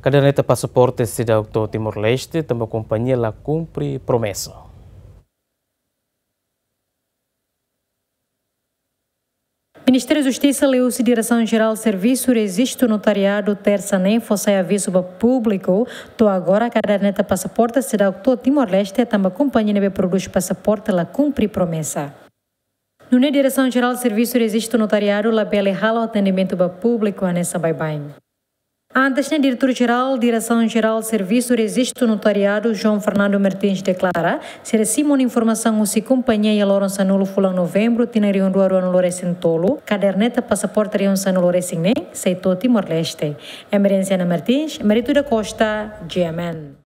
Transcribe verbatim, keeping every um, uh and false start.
Kaderneta pasaporte seidauk to'o Timor-Leste tanba kompañia la kumpre promesa. Ministériu Justisa liuhusi Diresaun Jerál Servisu Rejistu Notariadu, Tersa ne'e, fó sai avizu ba públiku, to'o agora kaderneta pasaporte seidauk to'o Timor-Leste tanba kompañia ne'ebé prodús pasaporte la kumpre promesa. Nune'e Diresaun Jerál Servisu Rejistu Notariadu labele halo atendimentu ba públiku hanesan baibain. Antes ne'e, Diretór Jerál Diresaun Jerál Servisu Rejistu Notariadu, João Fernando Martins, deklara, sira simu ona informasaun husi kompañia iha loron sanulu fulan Novembru, tinan rihun rua ruanulu resin tolu, kaderneta pasaporte rihun sanulu resin neen sei to'o Timor-Leste. Emerenciana Martins, Marito da Costa, G M N.